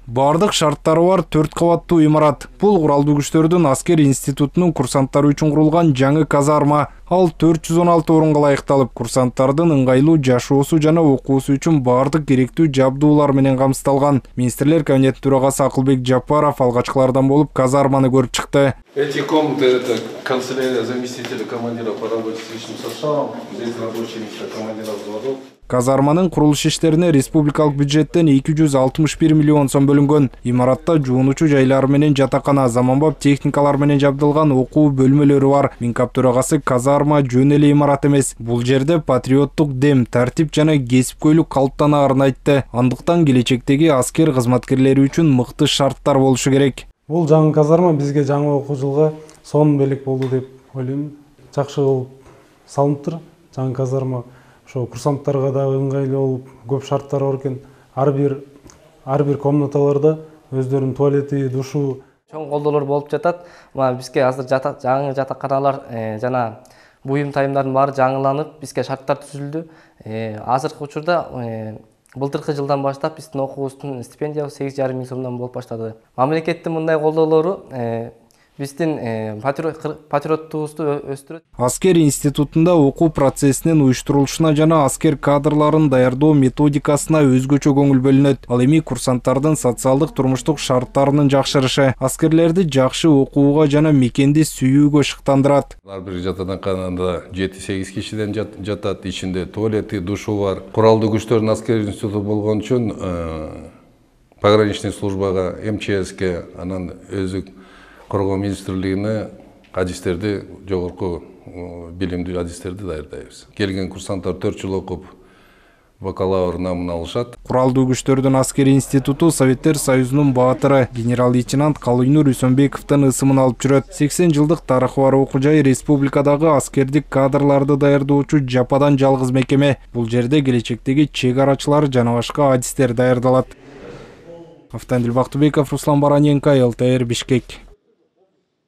Бардык шарттары бар 4 кабаттуу имарат. Бул куралдуу күчтөрдүн аскер институтунун курсанттары үчүн курулган жаңы казарма. Ал 416 орунга ылайыкталып, курсанттардын ыңгайлуу жашоосу жана окуусу үчүн бардык керектүү жабдуулар менен камсыздалган. Министрлер кабинетинин төрагасы Акылбек Жапаров алгачкылардан болуп казарманы көрүп чыкты. Эти комнаты — это канцелярия заместителя командира по работе с личным составом. Здесь рабочие места командиров взводов. Казарманын курулуш иштерине республикалык бюджеттен 261 миллион сом бөлүнгөн. Имаратта жуунуучу жайлары менен жатакана, заманбап техникалар менен жабдылган окуу бөлмөлөрү бар. Минкап төрагасы казарма жөн эле имарат эмес. Бул жерде патриоттук дем, тартип жана кесипкөйлүк калыптанаарын айтты. Андыктан келечектеги аскер кызматкерлери үчүн мыкты шарттар болушу керек. Бул жаңы казарма бизге жаңы окуу жылга сонун белек болду деп ойлойм. Жакшы болуп салыныптыр жаңы казарма. Ошо курсанттарга да ыңгайлуу болуп, көп шарттары бар экен. Ар бир комнаталарда өздөрүнүн туалети, душу. Чоң колдоолор болуп жатат. Бизге азыр жаңы жатаканалар жана буюм тайымдардын баары жаңыланып, бизге шарттар түзүлдү. Азыркы учурда былтыркы жылдан баштап биздин окуубуздун стипендиябыз 8,5 миң сомдон болуп баштады. Мамлекеттин мындай колдоолору биздин патриоттугубузду өстүрөт. Аскер институтунда окуу процессинин уюштурулушуна жана аскер кадрларын даярдоо методикасына өзгөчө көңүл бөлүнөт. Ал эми курсанттардын социалдык турмуштук шарттарынын жакшырышы аскерлерди жакшы окууга жана мекенди сүйүүгө шыктандырат. Ар бир жатаканада 7-8 кишиден жатат, ичинде туалети, душу бар. Куралдуу күчтөрдүн аскер институту болгон үчүн пограничный службага, МЧСке, анан өзү Коргоо министрлигине адистерди, жогорку билимдүү адистерди даярдайбыз. Келген курсанттар 4 жыл окуп бакалавр намын алышат. Куралдуу күчтөрдүн аскер институту Советтер Союзунун баатыры генерал-лейтенант Калыйнур Үсөнбековдун ысымын алып жүрөт. 80 жылдык тарыхы бар окуу жай республикадагы аскердик кадрларды даярдоочу жападан жалгыз мекеме. Бул жерде келечектеги чек арачылар жана башка адистер даярдалат. Автандил Бактыбеков, Руслан Бараненко, ЛТР, Бишкек.